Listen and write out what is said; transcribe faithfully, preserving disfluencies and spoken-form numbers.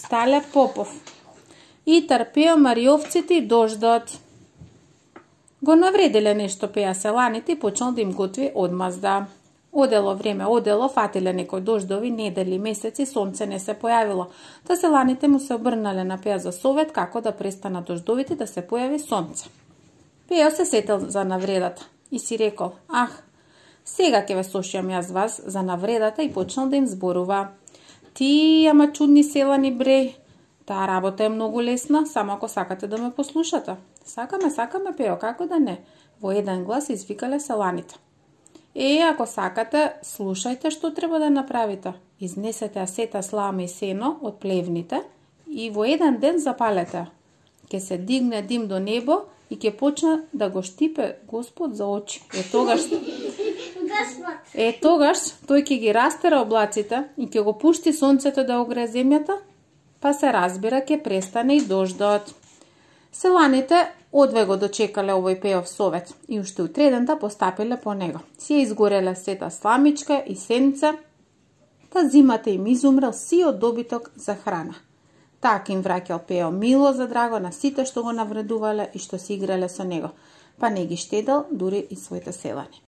Стале Попов. И трпео мариовците и дождот. Го навределе нешто пеа селаните и почнал да им готви одмазда. Одело време, одело, фатиле некој дождови, недели, месеци, сонце не се појавило. Та селаните му се обрнале на Пео за совет како да престанат дождовите да се појави сонце. Пео се сетил за навредата и си рекол: "Ах, сега ќе ве слушам јас вас за навредата", и почнал да им зборува: "Ти, ама чудни селани бре, таа работа е многу лесна, само ако сакате да ме послушате." "Сакаме, сакаме, Пео, како да не?" Во еден глас извикале селаните. "Е, ако сакате, слушајте што треба да направите. Изнесете ја сета слама и сено од плевните и во еден ден запалете. Ке се дигне дим до небо и ќе почне да го штипе Господ за очи. Е тогаш Е тогаш тој ќе ги растера облаците и ќе го пушти сонцето да огрее земјата, па се разбира ќе престане и дождот." Селаните одве го дочекале овој Пеов совет и уште утредента постапиле по него. Си ја изгореле сета сламичка и сенце, та зимата им изумрел сиот добиток за храна. Така им враќал Пео мило за драго на сите што го навредувале и што си играле со него, па не ги штедел дури и своите селани.